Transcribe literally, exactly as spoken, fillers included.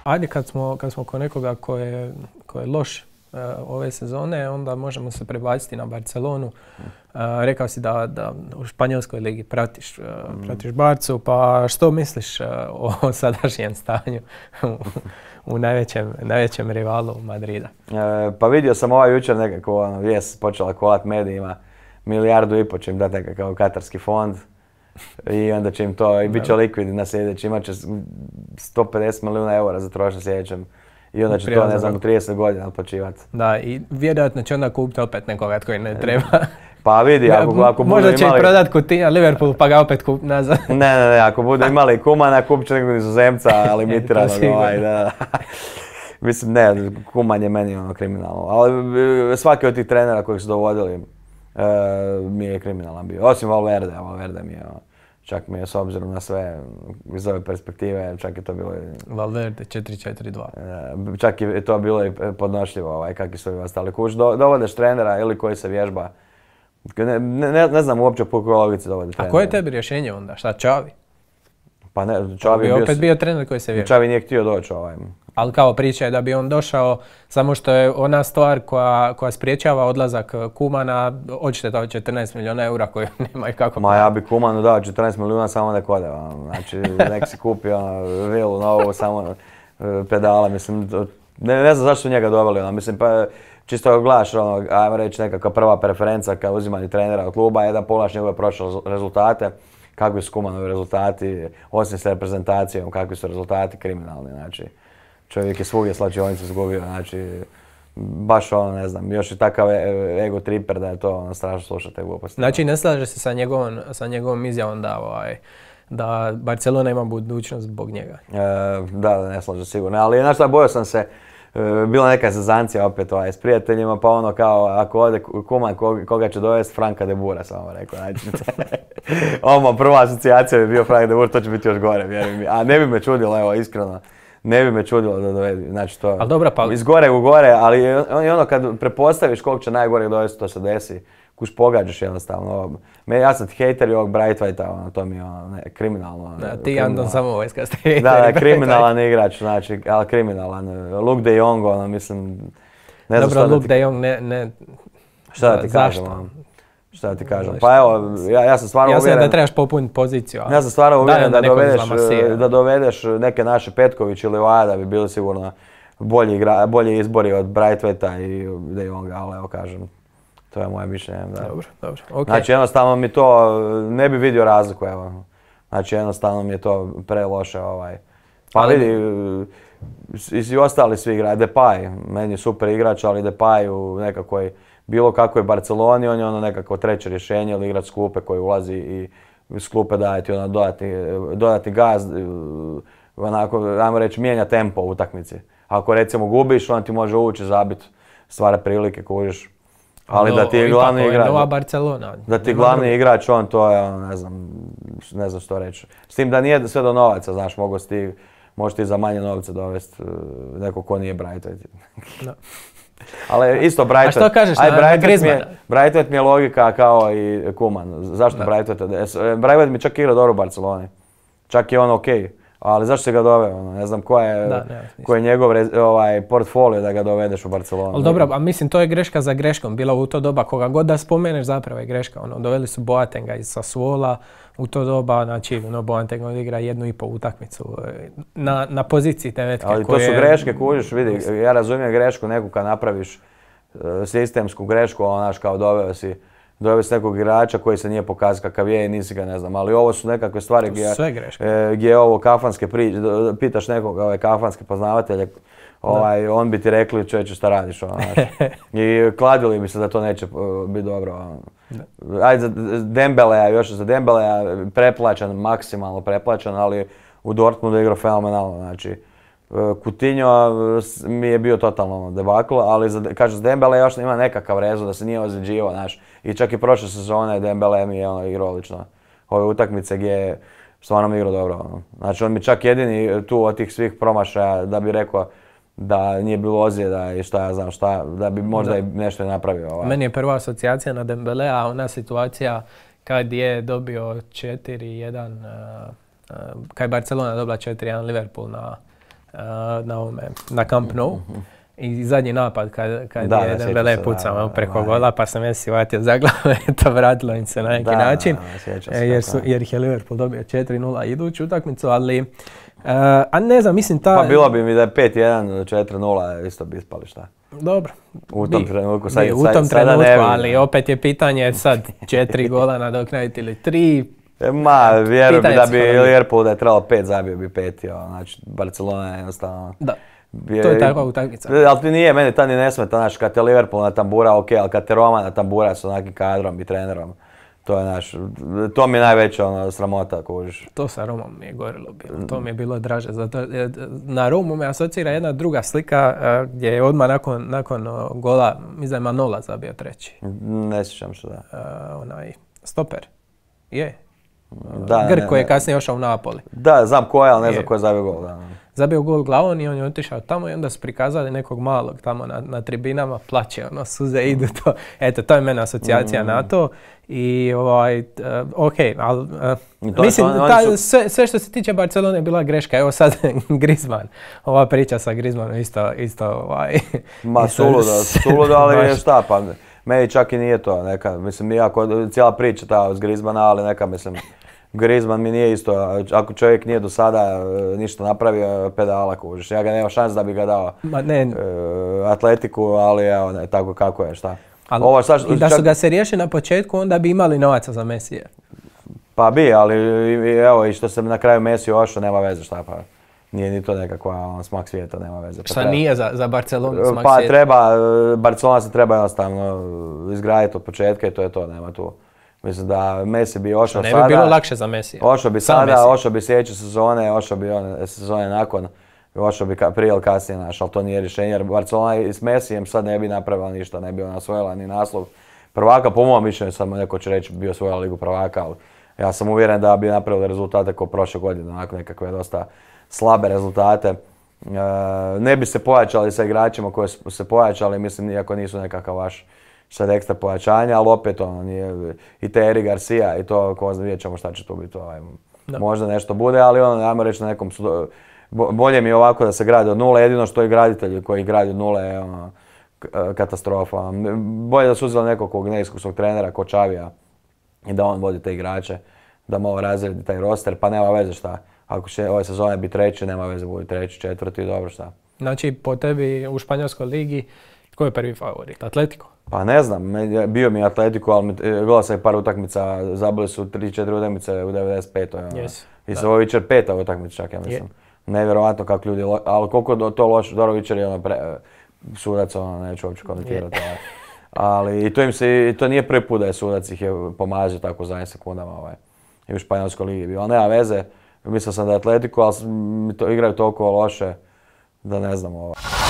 Ajde, kad smo, kad smo ko nekoga ko je, ko je loš uh, ove sezone, onda možemo se prebaciti na Barcelonu. Uh, rekao si da, da u Španjolskoj ligi pratiš, uh, pratiš Barcu, pa što misliš uh, o sadašnjem stanju u, u najvećem, najvećem rivalu Madrida? E, pa vidio sam ovaj jučer nekako ono, vijest počela kolat medijima, milijardu i po će im dati nekakav katarski fond i onda će im to, i bit će likvidni na sljedeći, imat će sto pedeset milijuna eura za trošak sljedećem. I onda će to, ne znam, u trideset godina otplaćivati. Da, i vjerojatno će onda kupiti opet nekoga koji ne treba. Pa vidi, ako, ako budu možda će imali... i prodat Coutinho Liverpool pa ga opet kupiti nazad. ne, ne, ne, ako budu imali Kumana, kupit će nekog Nizozemca, limitiranog. ovaj, da. Mislim, ne, Kuman je meni ono kriminalno. Ali svaki od tih trenera kojih su dovodili e, mi je kriminalan bio. Osim Valverde, Valverde mi je ono, čak mi je s obzirom na sve iz ove perspektive, čak je to bilo... Valverde četiri četiri dva. Čak je to bilo i podnošljivo, ovaj, kakvi su ovi ostali kuć. Do, dovodeš trenera ili koji se vježba. Ne, ne, ne znam uopće po kojoj logici dovodi trenera. A koje je tebi rješenje onda? Šta, Čavi? Pa ne, Čavi je bio... opet bio trener koji se vježba. Čavi nije htio doći ovaj. Ali kao priča je da bi on došao, samo što je ona stvar koja, koja spriječava odlazak Kumana, odšteta od četrnaest milijuna eura koju nema i kako... Ma ja bi Kumanu dao četrnaest milijuna samo nek ode. Znači, nek si kupi ono, vilu novu, samo pedala, mislim, ne, ne znam zašto su njega doveli, ono, mislim, pa čisto gledaš, ono, ajmo reći nekakva prva preferenca kad uzimanje trenera od kluba je da pogledaš njegove prošle rezultate, kakvi su Kumanovi rezultati, osim s reprezentacijom, kakvi su rezultati kriminalni, znači. Čovjek je svugdje slačionicu izgubio, znači, baš ono, ne znam, još i takav ego triper da je to ono, strašno slušati te gluposti. Znači, ne slaže se sa njegovom, sa njegovom izjavom da, ovaj, da Barcelona ima budućnost zbog njega? E, da, da, ne slaže sigurno, ali znaš šta, bojao sam se, e, bila neka zezancija opet ovaj, s prijateljima, pa ono kao, ako ode Kuman, koga, koga će dovesti, Franka de Boera, samo rekao, znači. Ovo, prva asocijacija bi bio Frank de Boer, to će biti još gore, vjerujem mi, a ne bi me čudilo, evo, iskreno. Ne bi me čudilo da dovedi, znači to al dobro, pa... iz gore u gore, ali on je ono kad prepostaviš kog će najgore dovesti, to se desi, kuš pogađaš jednostavno. Me, ja sam hejter i ovog Braithwaita, ono, to mi je ono, ne, kriminalno. Da, ti Andon Samovojska ste hejteri. Da, da, kriminalan igrač, znači, ali kriminalan. Luke de Jong, ono, mislim, ne znam dobro, šta da Luke ti... de Jong ne, ne... Šta da ti kažem, ono? Šta da ti kažem? Pa evo, ja, ja sam stvarno uvjeren... Ja sam da trebaš popuniti poziciju. Ja sam stvarno uvjeren da, da, dovedeš, izlamasira. da dovedeš neke naše Petković ili Vaja da bi bili sigurno bolji, igra, bolji izbori od Braithwaita i De Jonga, ali evo kažem, to je moje mišljenje. Da. Dobro, dobro, okej. Okay. Znači jednostavno mi to, ne bi vidio razliku, evo. Znači jednostavno mi je to preloše ovaj. Pa ali... vidi, i, i ostali svi igraju, Depay, meni je super igrač, ali Depay u nekakvoj bilo kakvoj Barceloni, on je ono nekako treće rješenje ili igrač s klupe koji ulazi i s klupe daje ti ono dodatni, dodatni gaz, onako, ajmo reći, mijenja tempo u utakmici. Ako recimo gubiš, on ti može ući, zabiti, stvara prilike, kužiš. Ali no, da ti je glavni igrač, nova Barcelona. Da ti je glavni igrač, on to je, ono, ne znam, ne znam što reći. S tim da nije sve do novaca, znaš, mogu ti, možeš ti za manje novca dovesti neko ko nije Braithwaite. No. Ali isto Braithwaite. A što kažeš aj, na, Braithwaite na Griezmana? Braithwaite mi je logika kao i Kuman. Zašto Braithwaite? Braithwaite mi čak igra dobro u Barceloni. Čak je on okej. Okay. Ali zašto se ga doveo? Ne znam ko je, da, ne, ko je njegov ovaj, portfolio da ga dovedeš u Barcelonu. Ali dobro, a mislim to je greška za greškom. Bila u to doba koga god da spomeneš zapravo je greška. Ono, doveli su Boatenga iz Sassuola u to doba, znači ono, Boateng odigra jednu i pol utakmicu na, na poziciji devetke. Ali to su greške, kužiš, vidi, ja razumijem grešku neku kad napraviš uh, sistemsku grešku, onaš kao doveo si doveo si nekog igrača koji se nije pokazao kakav je i nisi ga, ne znam, ali ovo su nekakve stvari gdje, e, gdje ovo kafanske priče, pitaš nekog ove kafanske poznavatelje, ovaj, on bi ti rekli čovječe šta radiš, ono, znaš. I kladili bi se da to neće uh, biti dobro. Ono. Ajde, za Dembelea, još za Dembelea preplaćan, maksimalno preplaćan, ali u Dortmundu je igrao fenomenalno, znači. Coutinho mi je bio totalno debakl, ali za, kažu za Dembele još ima nekakav rezon da se nije ozljeđivao, znaš. I čak i prošle sezone Dembele mi je ono igrao odlično. Ove utakmice gdje je stvarno mi igrao dobro. Ono. Znači on mi čak jedini tu od tih svih promašaja da bi rekao da nije bilo ozljeda i šta ja znam šta, da bi možda da. i nešto napravio. Ovaj. Meni je prva asocijacija na Dembelea, a ona situacija kad je dobio četiri jedan, uh, uh, kad je Barcelona dobila četiri jedan Liverpool na na, ovome, na Camp Nou. I zadnji napad kad, kad da, je Dembele pucao preko gola, pa sam Messi vatio za glavu, to vratilo im se na neki da, način. Da, da, jer, su, jer ih je Liverpool dobio četiri nula iduću utakmicu, ali... Uh, a ne znam, mislim ta... Pa bilo bi mi da je pet jedan, četiri nula, isto bi ispali šta. Dobro. U tom bi, trenutku, sad, bi, sad, u tom sad, trenutku, ne ali opet je pitanje sad četiri gola nadoknaditi ili tri. Ma, vjerujem da bi Liverpool da je trebalo pet, zabio bi pet, jo. Znači, Barcelona je jednostavno... Da. To je takva utakmica. Ali ti nije, meni ta ni ne smeta, znaš, kad te Liverpool natambura, ok, ali kad te Roma natambura s onakim kadrom i trenerom, to je naš, to mi je najveća ono, sramota, kužiš. To sa Romom mi je gorilo bilo, to mi je bilo draže, zato na Romu me asocira jedna druga slika gdje je odmah nakon, nakon gola, mislim da je Manola zabio treći. Ne sjećam se, da. Uh, onaj, stoper, je. Da, Grk ne, koji je ne. kasnije ošao u Napoli. Da, znam ko je, ali ne znam ko je zabio gol. Da. Zabio gol glavom i on je otišao tamo i onda su prikazali nekog malog tamo na, na tribinama, plaće, ono, suze idu to. Eto, to je meni asocijacija mm. na to. I ovaj, uh, ok, ali uh, mislim, on, ta, su... sve, sve što se tiče Barcelone je bila greška. Evo sad Griezmann, ova priča sa Griezmannom isto, isto ovaj... Ma suludo, suludo, ali šta pa, meni čak i nije to, neka, mislim, iako cijela priča ta s Griezmanna, ali neka, mislim, Griezmann mi nije isto, ako čovjek nije do sada ništa napravio, pedala kužiš. Ja ga nema šans da bi ga dao Ma ne. Uh, Atletiku, ali evo, ne, tako kako je, šta. Ali, Ovo, šta, I da čak... su ga se riješili na početku, onda bi imali novaca za Messija. Pa bi, ali evo, i što se na kraju Messi ošao, nema veze, šta pa. Nije ni to nekakva on, smak svijeta, nema veze. Pa šta treba... nije za, za Barcelonu smak pa, svijeta? Pa treba, Barcelona se treba jednostavno izgraditi od početka i to je to, nema tu. Mislim da Messi bi ošao sada... Ne bi bilo lakše za Messi. Ošao bi sada, ošao bi sljedeće sezone, ošao bi one sezone nakon, ošao bi prije ili kasnije naš, ali to nije rješenje jer Barcelona i s Messijem sad ne bi napravila ništa, ne bi ona osvojila ni naslov prvaka, po mojom mišljenju sad neko će reći bi osvojila ligu prvaka, ali ja sam uvjeren da bi napravili rezultate kao prošle godine, onako nekakve dosta slabe rezultate. E, ne bi se pojačali sa igračima koji su se pojačali, mislim, iako nisu nekakav vaš sad ekstra pojačanja, ali opet ono nije, i te Eri Garcia i to, ko zna, vidjet ćemo šta će tu biti, ovaj, možda nešto bude, ali ono, ajmo reći na nekom, bolje mi je ovako da se gradi od nule, jedino što i graditelji koji gradi od nule je ono, katastrofa. Bolje da su uzeli nekog neiskusnog trenera ko Čavija i da on vodi te igrače, da malo razredi taj roster, pa nema veze šta. Ako će ove sezone biti treći, nema veze, bude treći, četvrti, dobro šta. Znači, po tebi u Španjolskoj ligi, ko je prvi favorit? Atletico? Pa ne znam, bio mi Atletico, ali gledao sam i par utakmica, zabili su tri četiri utakmice u devedeset petoj Yes, I se ovo Vičer peta utakmica čak, ja mislim. Yeah. Nevjerovatno kako ljudi, ali koliko to loše, dobro Vičer je ono pre, sudac, ono neću uopće komentirati. Yeah. Ali i to im se, i to nije prvi put da je sudac ih je pomazio tako zadnjim sekundama ovaj, i u Španjolskoj ligi bio. Ali nema veze, mislio sam da je Atletico, ali to, igraju toliko loše da ne znam ovaj.